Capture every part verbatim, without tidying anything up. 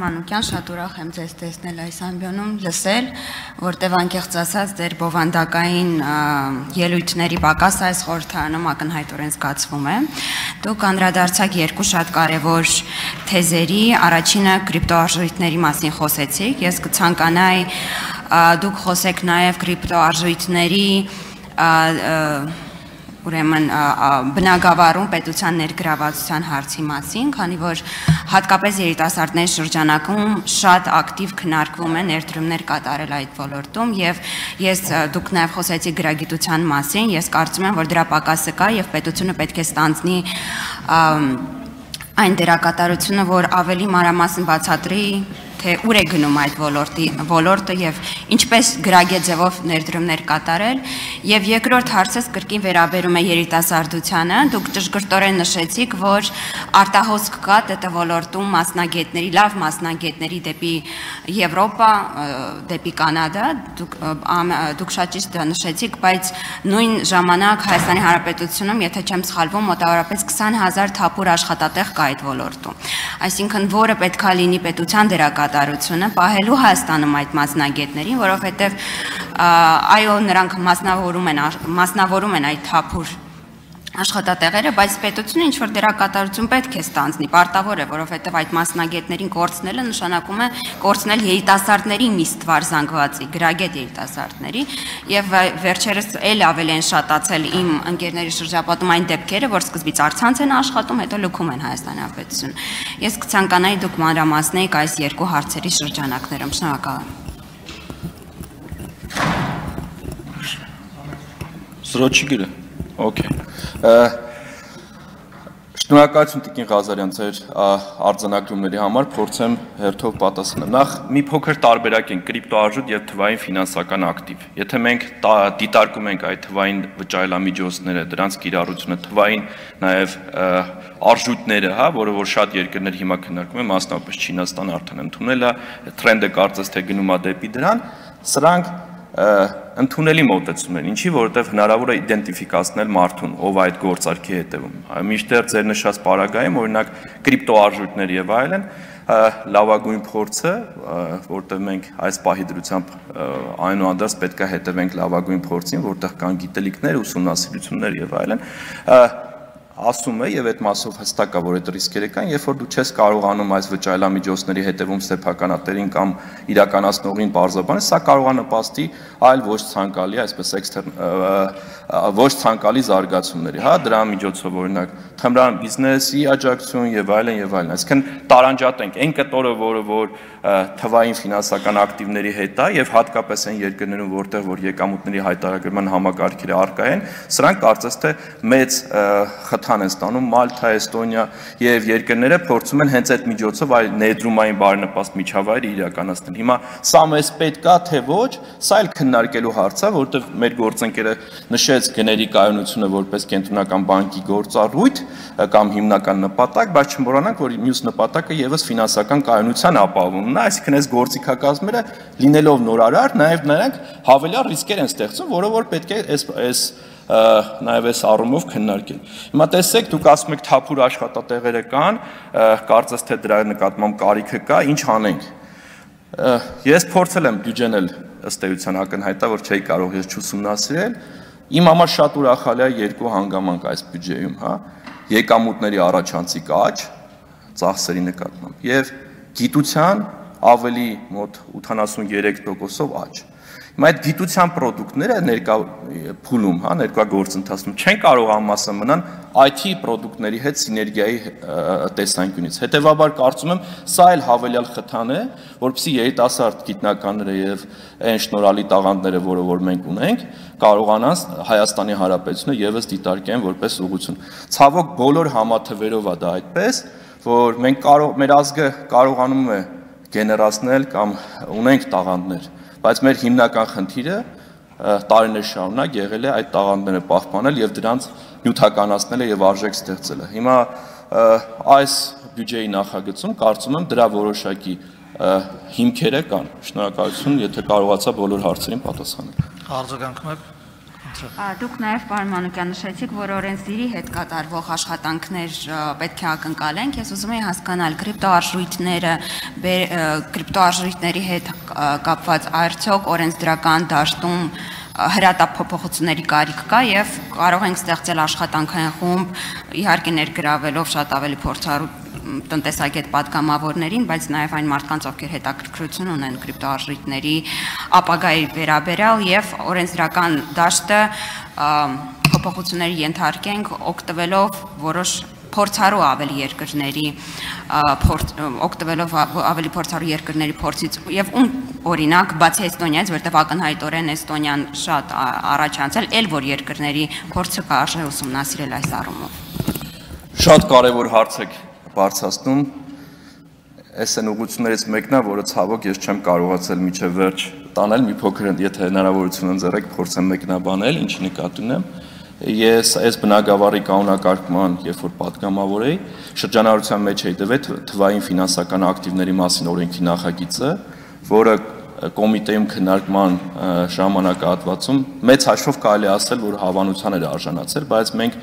Մանուկյան, շատ ուրախ եմ ձեզ տեսնել այս ամբիոնում, լսել, որտև անկեղծ ասած դեր բովանդակային ելույթների պակաս այս խորհրդարանում ակնհայտորեն զգացվում է։ Դուք անդրադարձաք երկու շատ կարևոր թեզերի, առաջինը կրիպտոարժույթների մասին խոսեցիք, ես կցանկանայի դուք խոսեք նաև կրիպտոարժույթների ուրեմն բնագավառում պետության ներգրավվածության հարցի մասին, քանի որ հատկապես երիտասարդների շրջանակում շատ ակտիվ քննարկվում է ներդրումներ կատարել այդ ոլորտում եւ ես դուք նաեւ խոսեցիք գրագիտության մասին, ես կարծում եմ, որ դրա պակասը կա եւ պետությունը պետք է ստանձնի այն դերակատարությունը, որ ավելի մանրամասն բացատրի թե ուր է գնում այդ ոլորտի ոլորտը եւ ինչպես գրագետ ձևով ներդրումներ կատարել եւ երկրորդ հարցս կրկին վերաբերում է երիտասարդությանը դուք ճշգրտորեն նշեցիք որ արտահոսք կա ՏՏ ոլորտում մասնագետների լավ մասնագետների դեպի Եվրոպա դեպի Կանադա դուք դուք շատ ճիշտ նշեցիք բայց նույն ժամանակ Հայաստանի Հանրապետությունում եթե չեմ սխալվում մոտավորապես քսան հազար թափուր աշխատատեղ կա այդ ոլորտում այսինքն որը պետքա լինի պետության դերակատարությունը պահելու Հայաստանում այդ մասնագետներին, որովհետև այո նրանք մասնավորում են մասնավորում են այդ թափուր աշխատատեղերը, բայց պետությունը ինչ որ դերակատարություն պետք է ստանձնի, պարտավոր է, որովհետև այդ մասնագետներին կորցնելը նշանակում է կորցնել երիտասարդների մի ստվար զանգվածի, գրագետ երիտասարդների, եւ վերջերս էլ ավելի են շատացել իմ ընկերների շրջապատում այն դեպքերը, որ սկզբից առցանց են աշխատում, հետո լքում են Հայաստանի Հանրապետություն։ Ես կցանկանայի դուք մանրամասնեիք այս երկու հարցերի շրջանակներում, շնորհակալ եմ։ Սրոչիգրը Okay. Շնորհակալություն Տիկին Ղազարյան ձեր արձանագրումների համար, փորձեմ հերթով պատասխանել։ Նախ մի փոքր տարբերակ են կրիպտոարժույթ եւ թվային ֆինանսական ակտիվ։ Եթե մենք դիտարկում ենք այդ թվային վճարելամիջոցները, դրանց կիրառությունը, թվային նաեւ արժույթները, հա, որը որ շատ երկրներ հիմա քննարկում են, մասնավորապես Չինաստանը արդեն ընդունել է, տրենդը կարծես թե գնում է դեպի դրան, սրանք ընդունելի մոտեցում են, ինչի որովհետև հնարավոր է իդենտիֆիկացնել մարդուն, ով այդ գործարքի հետևում։ Մինչդեռ ձեր նշած պարագայում, օրինակ կրիպտոարժույթներ եւ այլն, լավագույն փորձը, որտեղ մենք այս պահի դրությամբ այնուհանդերձ պետք է հետևենք լավագույն փորձին, որտեղ կան գիտելիքներ, ուսումնասիրություններ եւ այլն, ասում է եւ այդ մասով հստակ է որ այդ ռիսկերը կան երբ որ դու չես կարողանում այս վճարելամիջոցների հետևում սեփականատերին կամ իրականացնողին բարձրաբանել սա կարող է նպաստի այլ ոչ ցանկալի այսպես էքստերն ոչ ցանկալի զարգացումների հա դրա միջոցով օրինակ թմրան բիզնեսի աջակցություն եւ այլն եւ այլն այսինքն տարանջատենք այն կտորը որը որ թվային ֆինանսական ակտիվների հետ է եւ հատկապես այն երկրներում որտեղ որ եկամուտների հայտարարման համակարգերը առկա են սրանք կարծես թե մեծ խթան են ստանում Մալթա, Էստոնիա եւ երկրները փորձում են հենց այդ միջոցով այլ ներդրումային բարենպաստ միջավայրը իրականացնել։ Հիմա սա մեզ պետք է թե ոչ, սա էլ քննարկելու հարց է, որովհետեւ մեր գործընկերը նշեց գների կայունությունը որպես կենտրոնական բանկի գործառույթ կամ հիմնական նպատակ, բայց չմոռանանք, որ մյուս նպատակը եւս ֆինանսական կայունության ապահովումն է, այսինքն այս գործիքակազմերը լինելով նորարար, նաեւ նրանք հավելյալ ռիսկեր են ստեղծում, որը որ պետք է այս այս նաև այս առումով քննարկել։ Հիմա տեսեք, դուք ասում եք թափուր աշխատատեղերը կան, կարծես թե դրա նկատմամբ կարիքը կա, ինչ անենք։ Ես փորձել եմ բյուջեն էլ ըստ էության ակնհայտ է, որ չէի կարող ես չուսումնասիրել։ Իմ համար շատ ուրախալի է երկու հանգամանք այս բյուջեում, հա, եկամուտների առաջանցիկ աճ, ծախսերի նկատմամբ եւ գիտության ավելի մոտ ութանասուներեք տոկոսով աճ։ Հիմա այդ գիտության պրոդուկտները ներկա փուլում, հա, ներկա գործընթացում չեն կարող ամասը մնան I T պրոդուկտների հետ սիներգիայի տեսանկյունից։ Հետևաբար կարծում եմ, սա էլ հավելյալ խթան է, որպեսզի երիտասարդ գիտնականները եւ այն շնորհալի տաղանդները, որը որ մենք ունենք, կարողանան Հայաստանի Հանրապետությունը եւս դիտարկեն որպես ուղղություն։ Ցավոք բոլոր համաթվերով է դա այդպես, որ մենք կարող մեր ազգը կարողանում է գեներացնել կամ ունենք տաղանդներ բայց մեր հիմնական խնդիրը տարիներ շարունակ եղել է այդ տաղանդները պահպանել եւ դրանց նյութականացնելը եւ արժեք ստեղծելը։ Հիմա այս բյուջեի նախագծում կարծում եմ դրա որոշակի հիմքերը կան։ Շնորհակալություն, եթե կարողացա բոլոր հարցերին պատասխանել։ Արձագանքում եք։ Դուք նաև պարոն Մանուկյան նշեցիք, որ օրենսդիրի հետ կատարվող աշխատանքներ պետք է ակնկալենք։ Ես ուզում եմ հասկանալ կրիպտոարժույթները, կրիպտոարժույթների հետ կապված արդյոք օրենսդրական դաշտում հրատապ-փոփոխությունների կարիք կա եւ կարող ենք ստեղծել աշխատանքային խումբ, իհարկե ներգրավելով շատ ավելի փորձառու տնտեսագետ պատգամավորներին, բայց նաև այն մարդկանց, ովքեր հետաքրքրություն ունեն կրիպտոարժույթների ապագայի վերաբերյալ եւ օրենսդրական դաշտը փոփոխությունների ենթարկենք, օգտվելով որոշ փորձառու ավելի երկրների օգտվելով ավելի փորձառու երկրների փորձից եւ ում օրինակ բացի Էստոնիայից, որտեղ ակնհայտորեն Էստոնիան շատ առաջ անցել, էլ որ երկրների փորձը կարժե ուսումնասիրել այս առումով։ Շատ կարևոր հարց եք բարձրացնում, այս այն ուղղություններից մեկն է, որը ցավոք ես չեմ կարողացել միջև վերջ տանել, մի փոքր եթե հնարավորություն ընձեռեք, փորձեմ մեկնաբանել, ինչի նկատի ունեմ։ Ես այս բնագավառի կանոնակարգման, երբ որ պատգամավոր էի, շրջանառության մեջ էի տվել թվային ֆինանսական ակտիվների մասին օրենքի նախագիծը, որը կոմիտեում քննարկման ժամանակահատվածում մեծ հաշվով կարելի ասել, որ հավանության էր արժանացել, բայց մենք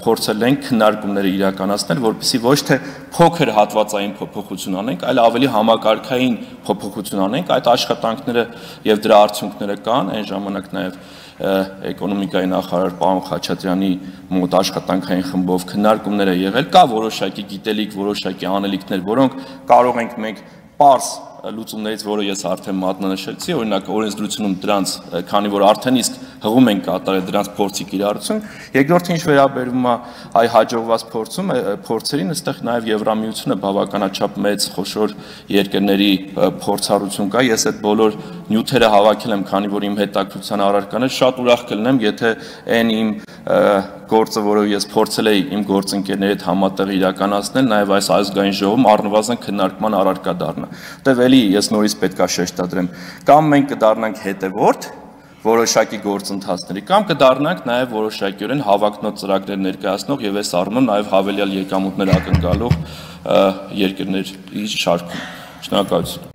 փորձել ենք քննարկումները իրականացնել, որպեսզի ոչ թե փոքր հատվածային փոփոխություն անենք, այլ ավելի համակարգային փոփոխություն անենք։ Այդ աշխատանքները եւ դրա արդյունքները կան, այն ժամանակ նաեւ էկոնոմիկայի նախարար պարոն Խաչատրյանի մոտ աշխատանքային խմբով քննարկումներ է եղել, կա որոշակի գիտելիք, որոշակի անելիքներ, որոնք կարող ենք մենք պարզ լուծումներից, որը ես արդեն մատնանշեցի, օրինակ օրենսդրությունում դրանց, քանի որ արդեն իսկ հղում են կատարել դրանց փորձի կիրառություն, երկրորդը ինչ վերաբերում է այ հաջողված փորձում, փորձերին, այստեղ նաև Եվրամիությունը բավականաչափ մեծ խոշոր երկրների փորձառություն կա, ես այդ բոլոր նյութերը հավաքել եմ, քանի որ իմ հետաքրքրության առարկան է, շատ ուրախ կլինեմ, եթե այն իմ գործը, որը ես փորձել էի իմ գործընկերների հետ համատեղ իրականացնել, նաև այս ազգային ժողովում առնվազն քննարկման առարկա դառնա։ Որտեվ էլի ես նորից պետքա շեշտադրեմ, կամ մենք կդառնանք հետևորդ որոշակի գործընթացների, կամ կդառնանք նաև որոշակիորեն հավակնոտ ծրագրեր ներկայացնող եւ այս առումով նաև հավելյալ եկամուտներ ակնկալող երկրների շարքում։ Շնորհակալություն։